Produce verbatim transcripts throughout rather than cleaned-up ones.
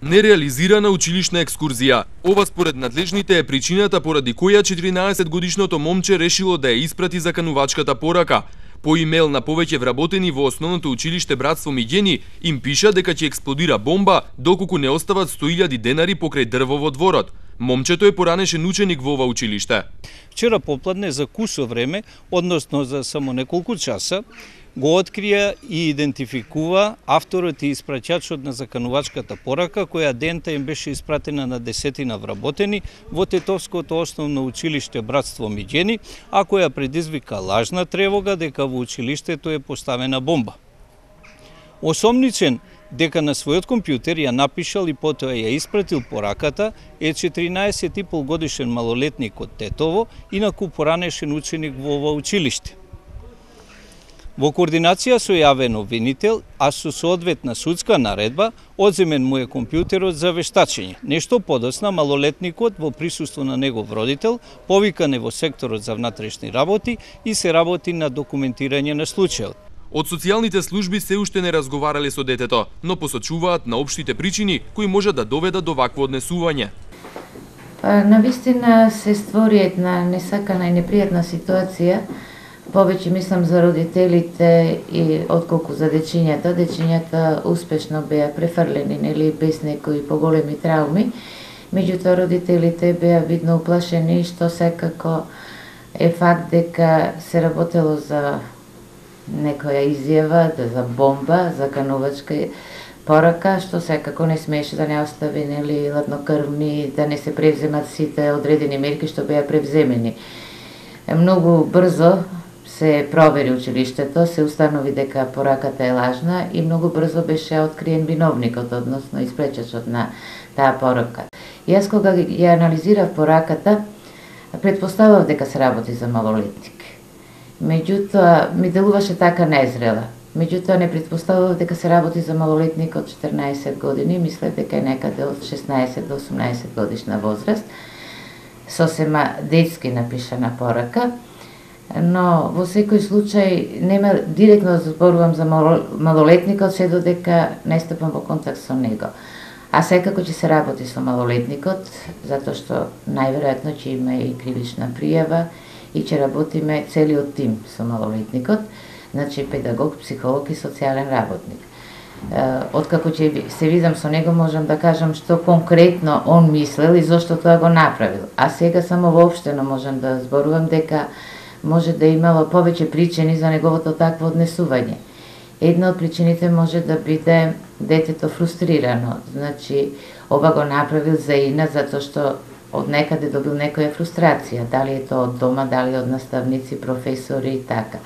Нереализирана училишна екскурзија. Ова според надлежните е причината поради која четиринаесетгодишното момче решило да ја испрати заканувачката порака. По имейл на повеќе вработени во основното училиште Братство Миѓени им пиша дека ќе експлодира бомба доколку не остават сто илјади денари покрај дрво во дворот. Момчето е поранешен ученик во ова училиште. Вчера попладне за кусо време, односно за само неколку часа, го открија и идентификува авторот и испраќачот на заканувачката порака, која дента им беше испратена на десетина вработени во Тетовското основно училиште Братство Миѓени, а која предизвика лажна тревога дека во училиштето е поставена бомба. Осомничен дека на својот компјутер ја напишал и потоа ја испратил пораката е четиринаесет и пол годишен малолетник од Тетово, инаку поранешен ученик во ова училиште. Во координација со јавен обвинител, а со соодветна судска наредба, одземен му е компјутерот за вештачење. Нешто подоцна малолетникот во присуство на негов родител повикан е во секторот за внатрешни работи и се работи на документирање на случајот. Од социјалните служби се уште не разговарале со детето, но посочуваат на општите причини кои може да доведат до вакво однесување. Навистина се створи една несакана и непријатна ситуација. Повеќе мислам за родителите и отколку за дечињата. Дечињата успешно беа префрлени, нели, без некои поголеми трауми. Меѓутоа родителите беа видно уплашени, што секако е факт дека се работело за некоја изјава, за бомба, за канувачка порака, што секако не смеше да не остави, нели, ладнокрвни, да не се превземат сите одредени мерки што беа превземени. Многу брзо се провери училиштето, се установи дека пораката е лажна и многу брзо беше откриен виновникот, односно испречачот на таа порака. Јас кога ја анализирав пораката, предпоставав дека се работи за малолетник. Меѓутоа, ми делуваше така незрела. Меѓутоа, не предпоставав дека се работи за малолетник од четрнаесет години, мислев дека е некаде од шеснаесет до осумнаесет годишна возраст, сосема детски напишана порака, но во секој случај нема директно да зборувам за малолетникот се додека не стапам во контакт со него. А секако ќе се работи со малолетникот, затоа што најверојатно ќе има и кривична пријава и ќе работиме целиот тим со малолетникот, значи педагог, психолог и социјален работник. Откако ќе се видам со него, можам да кажам што конкретно он мислел и зошто тоа го направил. А сега само воопштено можам да зборувам дека може да имало повеќе причини за неговото такво однесување. Една од причините може да биде детето фрустрирано. Значи, ова го направил за инат, затоа што од некаде добил некоја фрустрација. Дали е тоа од дома, дали од наставници, професори и така.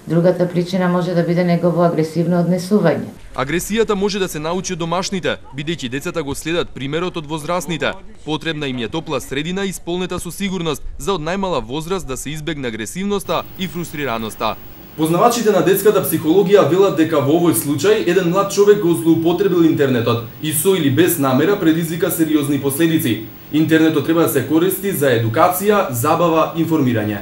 Другата причина може да биде негово агресивно однесување. Агресијата може да се научи од домашните, бидејќи децата го следат примерот од возрастните. Потребна им е топла средина исполнета со сигурност за од најмала возраст да се избегне агресивноста и фрустрираноста. Познавачите на детската психологија велат дека во овој случај еден млад човек го злоупотребил интернетот и со или без намера предизвика сериозни последици. Интернетот треба да се користи за едукација, забава, информирање.